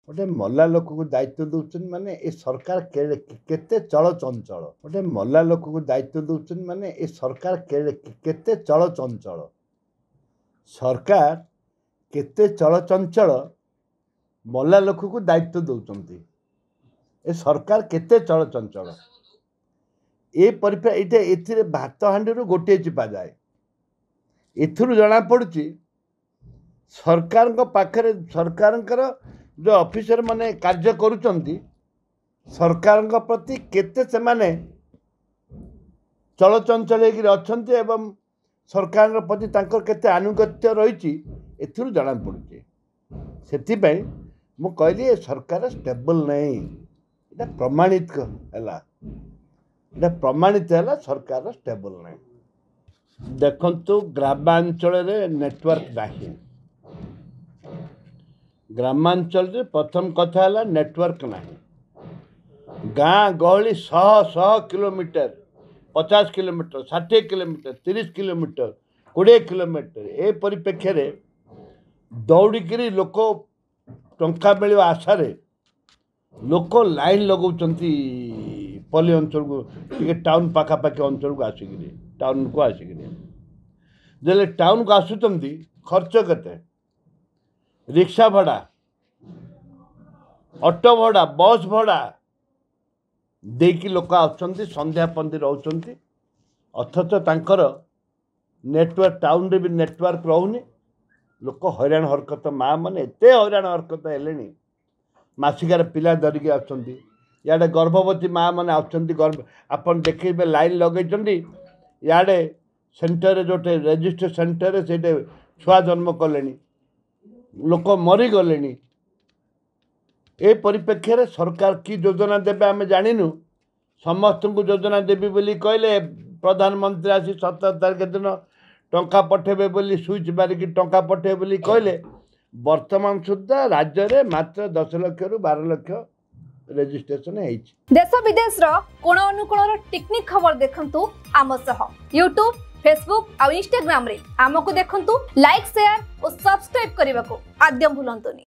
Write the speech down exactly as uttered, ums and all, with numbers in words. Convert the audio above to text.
ଗୋଟେ ମଲା ଲୋକକୁ ଦାୟିତ୍ୱ ଦେଉଛନ୍ତି ମାନେ ଏ ସରକାର କେତେ ଚଳଚଞ୍ଚଳ। ଗୋଟେ ମଲା ଲୋକକୁ ଦାୟିତ୍ୱ ଦେଉଛନ୍ତି ମାନେ ଏ ସରକାର କେତେ ଚଳଚଞ୍ଚଳ। ସରକାର କେତେ ଚଳଚଞ୍ଚଳ, ମଲା ଲୋକକୁ ଦାୟିତ୍ୱ ଦେଉଛନ୍ତି। ଏ ସରକାର କେତେ ଚଳଚଞ୍ଚଳ। ଏ ପରିପ୍ରେ ଏଇଟା ଏଥିରେ ଭାତ ହାଣ୍ଡିରୁ ଗୋଟିଏ ଚିପା ଯାଏ। ଏଥିରୁ ଜଣାପଡ଼ୁଛି ସରକାରଙ୍କ ପାଖରେ ସରକାରଙ୍କର ଯେଉଁ ଅଫିସର ମାନେ କାର୍ଯ୍ୟ କରୁଛନ୍ତି, ସରକାରଙ୍କ ପ୍ରତି କେତେ ସେମାନେ ଚଳଚଞ୍ଚଳ ହେଇକିରି ଅଛନ୍ତି ଏବଂ ସରକାରଙ୍କ ପ୍ରତି ତାଙ୍କର କେତେ ଆନୁଗତ୍ୟ ରହିଛି, ଏଥିରୁ ଜଣାପଡ଼ୁଛି। ସେଥିପାଇଁ ମୁଁ କହିଲି ଏ ସରକାର ଷ୍ଟେବଲ୍ ନାହିଁ। ଏଇଟା ପ୍ରମାଣିତ ହେଲା, ଏଇଟା ପ୍ରମାଣିତ ହେଲା ସରକାର ଷ୍ଟେବଲ୍ ନାହିଁ। ଦେଖନ୍ତୁ, ଗ୍ରାମାଞ୍ଚଳରେ ନେଟୱାର୍କ ନାହିଁ। ଗ୍ରାମାଞ୍ଚଳରେ ପ୍ରଥମ କଥା ହେଲା ନେଟୱାର୍କ ନାହିଁ। ଗାଁ ଗହଳି ଶହ ଶହ କିଲୋମିଟର, ପଚାଶ କିଲୋମିଟର, ଷାଠିଏ କିଲୋମିଟର, ତିରିଶ କିଲୋମିଟର, କୋଡ଼ିଏ କିଲୋମିଟର, ଏ ପରିପ୍ରେକ୍ଷୀରେ ଦୌଡ଼ିକିରି ଲୋକ ଟଙ୍କା ମିଳିବା ଆଶାରେ ଲୋକ ଲାଇନ୍ ଲଗାଉଛନ୍ତି ପଲ୍ଲୀ ଅଞ୍ଚଳକୁ, ଟିକେ ଟାଉନ୍ ପାଖାପାଖି ଅଞ୍ଚଳକୁ ଆସିକିରି, ଟାଉନ୍କୁ ଆସିକିରି। ଯେତେବେଳେ ଟାଉନ୍କୁ ଆସୁଛନ୍ତି, ଖର୍ଚ୍ଚ କେତେ? ରିକ୍ସା ଭଡ଼ା, ଅଟୋ ଭଡ଼ା, ବସ୍ ଭଡ଼ା ଦେଇକି ଲୋକ ଆସୁଛନ୍ତି, ସନ୍ଧ୍ୟା ପର୍ଯ୍ୟନ୍ତ ରହୁଛନ୍ତି। ଅଥଚ ତାଙ୍କର ନେଟୱାର୍କ, ଟାଉନରେ ବି ନେଟୱାର୍କ ରହୁନି। ଲୋକ ହଇରାଣ ହରକତ, ମା ମାନେ ଏତେ ହଇରାଣ ହରକତ ହେଲେଣି। ମାସିକାର ପିଲା ଧରିକି ଆସୁଛନ୍ତି, ଇଆଡ଼େ ଗର୍ଭବତୀ ମା ମାନେ ଆସୁଛନ୍ତି। ଗର୍ଭ ଆପଣ ଦେଖିବେ ଲାଇନ୍ ଲଗେଇଛନ୍ତି, ଇଆଡ଼େ ସେଣ୍ଟରରେ, ଯେଉଁଠି ରେଜିଷ୍ଟର ସେଣ୍ଟରରେ, ସେଇଠି ଛୁଆ ଜନ୍ମ କଲେଣି, ଲୋକ ମରିଗଲେଣି। ଏ ପରିପ୍ରେକ୍ଷୀରେ ସରକାର କି ଯୋଜନା ଦେବେ ଆମେ ଜାଣିନୁ। ସମସ୍ତଙ୍କୁ ଯୋଜନା ଦେବି ବୋଲି କହିଲେ ପ୍ରଧାନମନ୍ତ୍ରୀ ଆସି, ସତର ତାରିଖ ଦିନ ଟଙ୍କା ପଠାଇବେ ବୋଲି, ସୁଇଚ୍ ମାରିକି ଟଙ୍କା ପଠାଇବେ ବୋଲି କହିଲେ। ବର୍ତ୍ତମାନ ସୁଦ୍ଧା ରାଜ୍ୟରେ ମାତ୍ର ଦଶ ଲକ୍ଷରୁ ବାର ଲକ୍ଷ ରେଜିଷ୍ଟ୍ରେସନ ହେଇଛି। ଦେଶ ବିଦେଶର କୋଣ ଅନୁକୋଣର ଟିକିନିଖି ଖବର ଦେଖନ୍ତୁ ଆମ ସହ ୟୁଟ୍ୟୁବ, ଫେସବୁକ୍ ଆଉ ଇନଷ୍ଟାଗ୍ରାମରେ ଆମକୁ ଦେଖନ୍ତୁ। ଲାଇକ୍, ସେୟାର ଓ ସବସ୍କ୍ରାଇବ୍ କରିବାକୁ ଆଦୌ ଭୁଲନ୍ତୁନି।